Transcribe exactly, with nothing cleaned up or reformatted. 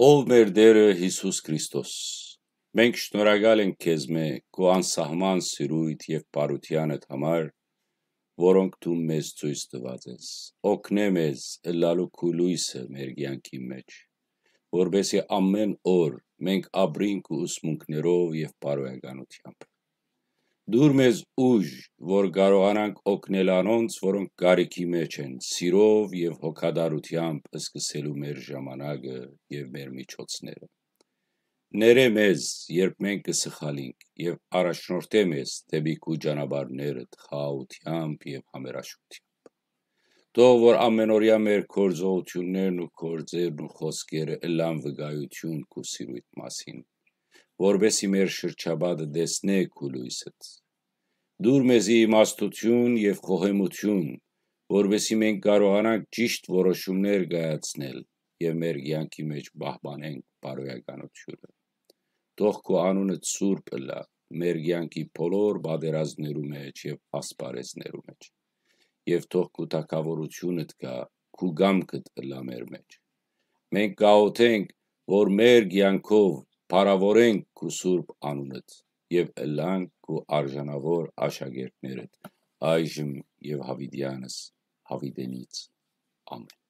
Ով մեր Տէրը Յիսուս Քրիստոս, մենք շնորհակալ ենք քեզմէ քու անսահման սիրոյթ եւ բարութեանդ համար, որոնք դուն մեզ ցոյց տուած ես։ Օգնէ մեզ ըլլալու քու լոյսը մեր կեանքին մէջ, որպէսզի ամէն օր մենք ապրինք քու ուսմունքներով եւ բարոյականութեամբ։ Տուր մեզ ուժ, որ կարողանանք օգնել անոնց, որոնք կարիքի մէջ են, սիրով եւ հոգատարութեամբ սկսելու մեր ժամանակը եւ մեր միջոցները։ Ներէ մեզ, երբ մենք կը սխալինք, եւ առաջնորդէ մեզ դէպի քու ճանապարհներդ խաղաղութեամբ եւ համերաշխութեամբ։ Թող որ ամենօրեայ մեր գործողութիւններն ու գործերն ու խօսքերը ըլլան վկայութիւն քու սիրոյթ մասին, որպէսզի մեր շրջապատը տեսնէ քու լոյսդ։ Տուր մեզի իմաստութիւն եւ խոհեմութիւն, որպէսզի մենք կարողանանք ճիշդ որոշումներ կայացնել եւ մեր կեանքի մէջ պահպանենք բարոյականութիւնը։ Թող քու անունդ սուրբ ըլլայ մեր կեանքի բոլոր պատերազմներու մէջ եւ ասպարէզներու մէջ։ Եւ թող քու թագաւորութիւնդ գայ, քու կամքդ ըլլայ մեր մէջ։ Մենք կաղօթենք, որ մեր կեանքով փառաւորենք քու սուրբ անունդ եւ ըլլանք քու արժանաւոր աշակերտներդ այժմ եւ յաւիտեանս յաւիտենից։ Ամէն։